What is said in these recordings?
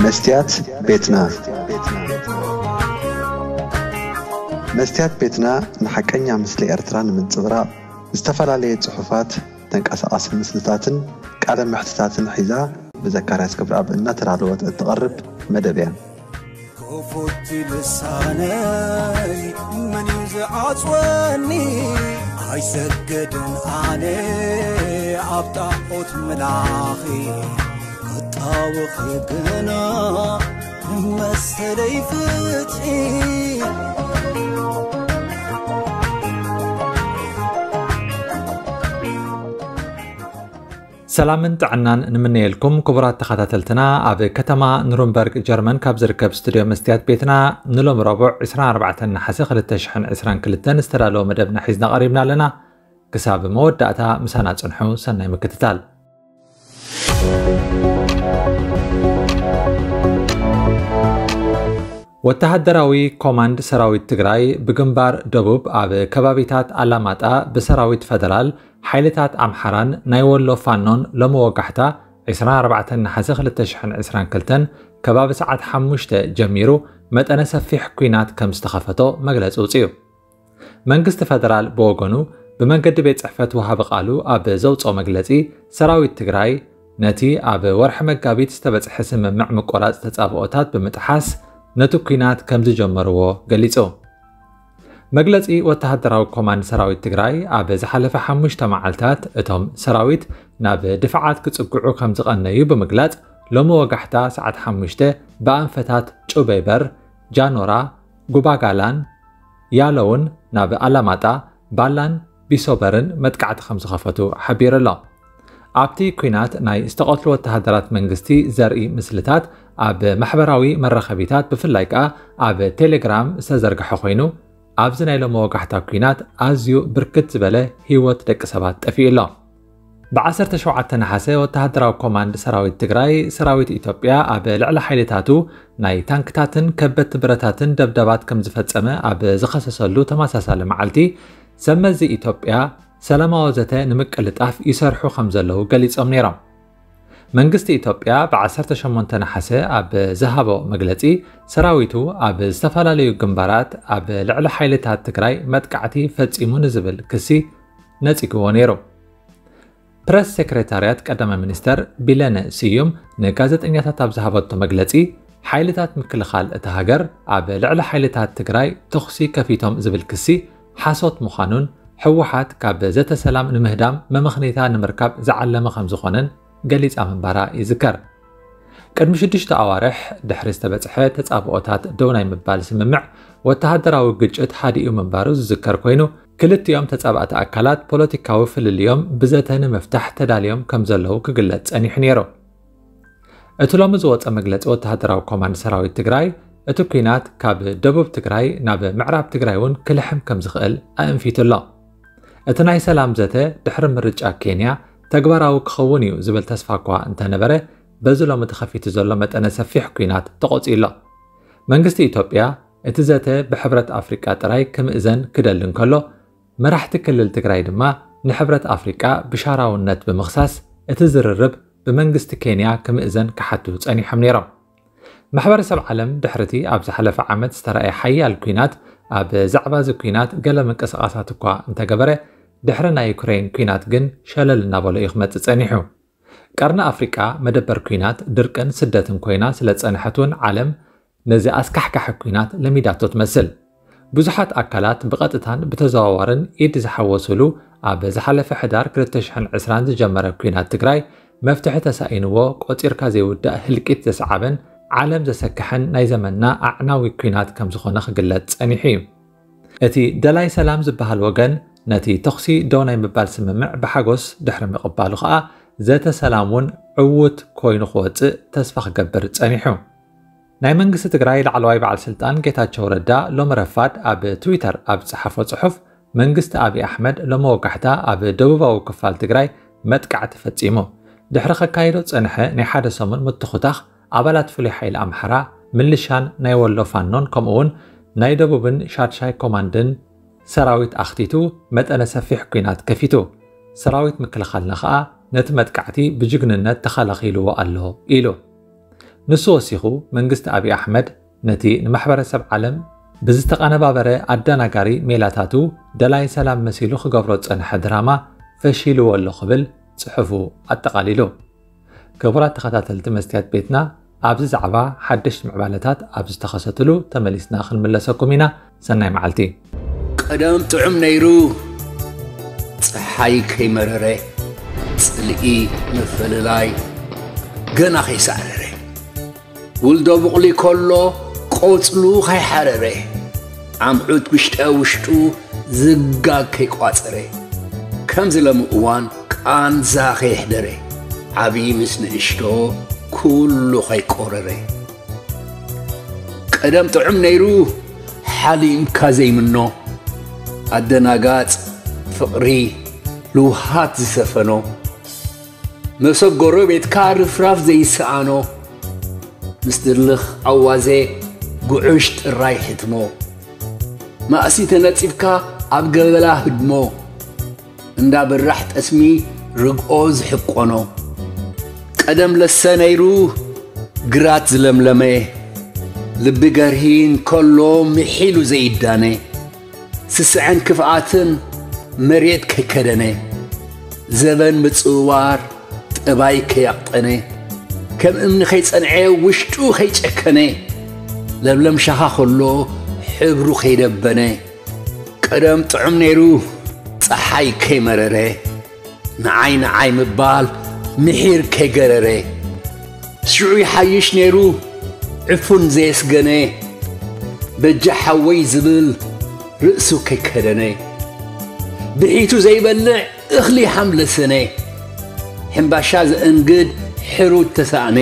መስትያት ቤትና። መስትያት ቤትና ንሓቀኛ ምስሊ ኤርትራ ንምንጽብራቕ ዝተፈላለየ ጽሑፋት፣ ተንቀሳቓሲ ምስልታትን ቃለ መሕትታትን ሒዛ ብዘካርያስ ገብረኣብ እናተዳለወት እትቐርብ መደብ እያ። ክፉት ልሳነይ መን እዩ ዝዓጽወኒ? ኣይሰግድን ኣነ ኣብ ጣዖት ምላኺ፣ ክጣወኺ ግና መሰለይ ፍትሒ። ሰላምን ጥዕናን ንምነየልኩም ክቡራት ተኸታተልትና። ኣብ ከተማ ኑርንበርግ ጀርመን ካብ ዝርከብ ስቱድዮ መስትያት ቤትና ንሎሚ ረቡዕ ዕስራን ኣርባዕተን ነሓሰ ክልተ ሽሕን ዕስራን ክልተን ዝተዳለወ መደብና ሒዝና ቀሪብና ኣለና። ክሳብ መወዳእታ ምሳና ጽንሑ። ሰናይ ምክትታል። ወተሃደራዊ ኮማንድ ሰራዊት ትግራይ ብግንባር ደቡብ ኣብ ከባቢታት ኣላማጣ ብሰራዊት ፈደራል፣ ሓይልታት ኣምሓራን ናይ ወሎ ፋኖን ሎሚ ወጋሕታ ዕስራን ኣርባዕተን ነሓሰ ክልተ ሽሕን ዕስራን ክልተን ከባቢ ሰዓት ሓሙሽተ ጀሚሩ መጠነ ሰፊሕ ኲናት ከም ዝተኸፈቶ መግለጺ ውጽዩ። መንግስቲ ፈደራል ብወገኑ ብመንገዲ ቤት ጽሕፈት ወሃቢ ቃሉ ኣብ ዘውጽኦ መግለጺ፣ ሰራዊት ትግራይ ነቲ ኣብ ወርሒ መጋቢት ዝተበጽሐ ስምምዕ ምቆራጽ ተጻብኦታት ብምጥሓስ ነቲ ኲናት ከም ዝጀመርዎ ገሊጹ። መግለጺ ወተሃደራዊ ኮማንድ ሰራዊት ትግራይ፣ ኣብ ዝሓለፈ ሓሙሽተ መዓልታት እቶም ሰራዊት ናብ ድፍዓት ክጽግዑ ከም ዝቐነዩ ብምግላጽ፣ ሎሚ ወጋሕታ ሰዓት ሓሙሽተ ብኣንፈታት ጩበይበር፣ ጃኖራ፣ ጉባጋላን፣ ያለውን ናብ ኣላማጣ፣ ባላን ቢሶበርን መጥቃዕቲ ከም ዝኸፈቱ ሓቢሩ ኣሎ። ኣብቲ ኲናት ናይ ዝተቐትሉ ወተሃደራት መንግስቲ ዘርኢ ምስልታት ኣብ ማሕበራዊ መራኸቢታት፣ ብፍላይ ከኣ ኣብ ቴሌግራም ዝተዘርግሐ ኮይኑ፣ ኣብዚ ናይ ሎሚ ወጋሕታ ኲናት ኣዝዩ ብርክት ዝበለ ህይወት ደቂ ሰባት ጠፊኡ ኣሎ። ብዓሰርተ ሸውዓተ ነሓሰ ወተሃደራዊ ኮማንድ ሰራዊት ትግራይ፣ ሰራዊት ኢትዮጵያ ኣብ ልዕሊ ሓይልታቱ ናይ ታንክታትን ከበድቲ ብረታትን ደብዳባት ከም ዝፈጸመ ኣብ ዝኸሰሰሉ ተመሳሳሊ መዓልቲ፣ ሰመዚ ኢትዮጵያ ሰላማዊ ዘተ ንምቅልጣፍ ይሰርሑ ከም ዘለዉ ገሊጾም ነይሮም። መንግስቲ ኢትዮጵያ ብዓሰርተ ሸሞንተ ነሓሰ ኣብ ዝሃቦ መግለጺ፣ ሰራዊቱ ኣብ ዝተፈላለዩ ግንባራት ኣብ ልዕሊ ሓይልታት ትግራይ መጥቃዕቲ ፈጺሙ ንዝብል ክሲ ነጺግዎ ነይሩ። ፕረስ ሴክሬታርያት ቀዳማይ ሚኒስተር ቢለነ ስዩም ንጋዜጠኛታት ኣብ ዝሃበቶ መግለጺ፣ ሓይልታት ምክልኻል እታ ሃገር ኣብ ልዕሊ ሓይልታት ትግራይ ተኹሲ ከፊቶም ዝብል ክሲ ሓሶት ምዃኑን፣ ህወሓት ካብ ዘተ ሰላም ንምህዳም መመኽነይታ ንምርካብ ዝዓለመ ከም ዝኾነን ገሊጻ ምንባራ ይዝከር። ቅድሚ ሽዱሽተ ኣዋርሕ ድሕሪ ዝተበጽሐ ተጻብኦታት ደው ናይ ምባል ስምምዕ፣ ወተሃደራዊ ግጭት ሃዲኡ ምንባሩ ዝዝከር ኮይኑ፣ ክልቲኦም ተጻባእቲ ኣካላት ፖለቲካዊ ፍልልዮም ብዘተ ንምፍታሕ ተዳልዮም ከም ዘለዉ ክግለጽ ጸኒሑ ነይሩ። እቲ ሎሚ ዝወጸ መግለጺ ወተሃደራዊ ኮማንድ ሰራዊት ትግራይ፣ እቲ ኲናት ካብ ደቡብ ትግራይ ናብ ምዕራብ ትግራይ እውን ክልሕም ከም ዝኽእል ኣእንፊቱ ኣሎ። እቲ ናይ ሰላም ዘተ ድሕሪ ምርጫ ኬንያ ተግባራዊ ክኸውን እዩ ዝብል ተስፋ እኳ እንተነበረ፣ በዚ ሎሚ ተኸፊቱ ዘሎ መጠነ ሰፊሕ ኲናት ተቖጺኡ ኣሎ። መንግስቲ ኢትዮጵያ እቲ ዘተ ብሕብረት ኣፍሪቃ ጥራይ ክምእዘን ክደሊ እንከሎ፣ መራሕቲ ክልል ትግራይ ድማ ንሕብረት ኣፍሪቃ ብሻራውነት ብምኽሳስ፣ እቲ ዝርርብ ብመንግስቲ ኬንያ ክምእዘን ክሓቱ ጸኒሖም ነይሮም። ማሕበረሰብ ዓለም ድሕርቲ ኣብ ዝሓለፈ ዓመት ዝተራእየ ሓያል ኲናት፣ ኣብ ዛዕባ እዚ ኲናት ገለ ምንቅስቓሳት እኳ እንተገበረ፣ ድሕሪ ናይ ዩክሬን ኲናት ግን ሸለል እናበሎ እዩ ክመጽእ ጸኒሑ። ቀርኒ ኣፍሪቃ መደበር ኲናት፣ ድርቅን ስደትን ኮይና ስለ ዝጸንሐት እውን ዓለም ነዚ ኣስካሕካሒ ኲናት ለሚዳቶ ትመስል። ብዙሓት ኣካላት ብቐጥታን ብተዘዋዋርን ኢድ ዝሓወሱሉ ኣብ ዝሓለፈ ሕዳር ክልተ ሽሕን ዕስራን ዝጀመረ ኲናት ትግራይ መፍትሒ ተሳኢንዎ ቆጺርካ ዘይውዳእ ህልቂት ዘስዓበን ዓለም ዘሰክሐን ናይ ዘመንና ኣዕናዊ ኲናት ከም ዝኾነ ክግለጽ ጸኒሑ እዩ። እቲ ደላይ ሰላም ዝበሃል ወገን ነቲ ተኹሲ ደው ናይ ምባል ስምምዕ ብሓጎስ ድሕሪ ምቕባሉ ኸኣ ዘተ ሰላም እውን ዕዉት ኮይኑ ክወጽእ ተስፋ ክገብር ጸኒሑ። ናይ መንግስቲ ትግራይ ላዕለዋይ በዓል ስልጣን ጌታቸው ረዳ ሎሚ ረፋድ ኣብ ትዊተር ኣብ ዝጸሓፎ ጽሑፍ፣ መንግስቲ ኣብይ ኣሕመድ ሎሚ ወጋሕታ ኣብ ደቡባዊ ክፋል ትግራይ መጥቃዕቲ ፈጺሙ። ድሕሪ ከካይዶ ዝጸንሐ ናይ ሓደ ሰሙን ምትኹታኽ፣ ኣባላት ፍሉይ ሓይሊ ኣምሓራ፣ ምልሻን ናይ ወሎ ፋኖን ከምኡ እውን ናይ ደቡብን ሻድሻይ ኮማንድን ሰራዊት ኣኽቲቱ መጠነ ሰፊሕ ኲናት ከፊቱ። ሰራዊት ምክልኻልና ኸኣ ነቲ መጥቃዕቲ ብጅግንነት ተኸላኺልዎ ኣሎ ኢሉ። ንሱ ወሲኹ፣ መንግስቲ ኣብይ ኣሕመድ ነቲ ንማሕበረሰብ ዓለም ብዝተቐነባበረ ኣደናጋሪ ሜላታቱ ደላይ ሰላም መሲሉ ክገብሮ ዝጸንሐ ድራማ ፈሺልዎ ኣሎ ክብል ጽሑፉ ኣጠቓሊሉ። ክቡራት ተኸታተልቲ መስትያት ቤትና፣ ኣብዚ ዛዕባ ሓደሽቲ ምዕባለታት ኣብ ዝተኸሰትሉ ተመሊስና ክንምለሰኩም ኢና። ሰናይ መዓልቲ። ቀደም ጥዑም ነይሩ፣ ጸሓይ ከይመረረ፣ ጽልኢ ምፍልላይ ገና ከይሳዕረረ፣ ውልዶ ቡቕሊ ከሎ ቆጽሉ ከይሓረረ፣ ዓምዑት ውሽጠ ውሽጡ ዝጋግ ከይቋጸረ፣ ከምዚ ሎሚ እዋን ቃንዛ ከየሕደረ፣ ዓብዪ ምስ ንእሽቶ ኩሉ ከይቆረረ። ቀደም ጥዑም ነይሩ፣ ሓሊምካ ዘይምኖ፣ ኣደናጋጽ ፍቕሪ ልውሃት ዝሰፈኖ፣ መሶብ ጎረቤትካ ርፍራፍ ዘይሰኣኖ፣ ምስ ድርልኽ ኣዋዜ ጉዑሽ ጥራይ ሕትሞ፣ ማእሲ ተነጺፍካ ኣብ ገበላ ህድሞ፣ እንዳ ብራሕ ጠስሚ ርግኦ ዝሕቆኖ። ቀደም ለሰ ነይሩ ግራት ዝለምለመ፣ ልቢ ገርሂ እንከሎ ምሒሉ ዘይዳነ፣ ስስዐን ክፍኣትን መሬት ከይከደነ፣ ዘበን ምጽውዋር ጠባይ ከያቕጠነ፣ ከም እምኒ ከይጸንዐ ውሽጡ ከይጨከነ፣ ለምለም ሻኻ ከሎ ሕብሩ ከይደበነ፣ ቀደም ጥዑም ነይሩ ጸሓይ ከይመረረ፣ ንዓይ ንዓይ ምባል ምሒር ከይገረረ፣ ሽዑ ይሓይሽ ነይሩ ዕፉን ዘየስገነ፣ በጃ ሓወይ ዝብል ርእሱ ከይከደነ፣ ብሒቱ ዘይበልዕ እኽሊ ሓምለሰነ፣ ሕምባሻ ዘእንግድ ሕሩት ተሳእነ፣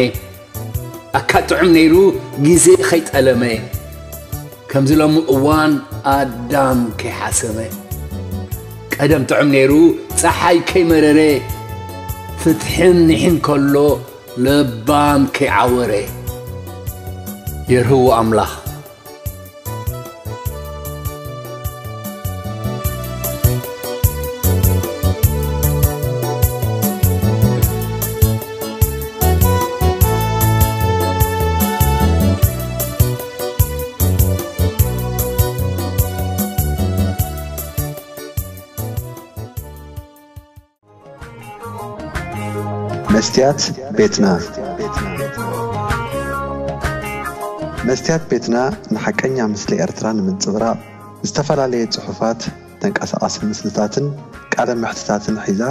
ኣካ ጥዑም ነይሩ ግዜ ከይጠለመ፣ ከምዚ ሎሚ እዋን ኣዳም ከይሓሰመ። ቀደም ጥዑም ነይሩ ጸሓይ ከይመረረ፣ ፍትሕን ኒሕን ከሎ ለባም ከይዓወረ። የርህዎ ኣምላኽ። መስትያት ቤትና። መስትያት ቤትና ንሓቀኛ ምስሊ ኤርትራ ንምንጽብራቕ ዝተፈላለየ ጽሑፋት፣ ተንቀሳቓሲ ምስልታትን ቃለ መሕትታትን ሒዛ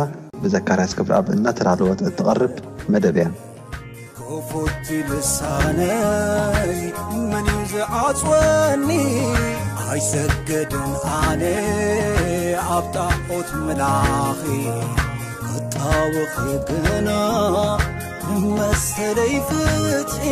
ብዘካርያስ ገብረኣብ እናተዳለወት እትቐርብ መደብ እያ። ክፉት ልሳነይ መን እዩ ዝዓጽወኒ? ኣይሰግድን ኣነ ኣብ ጣዖት ምላኺ፣ ክጣወኺ ግና መሰለይ ፍትሒ።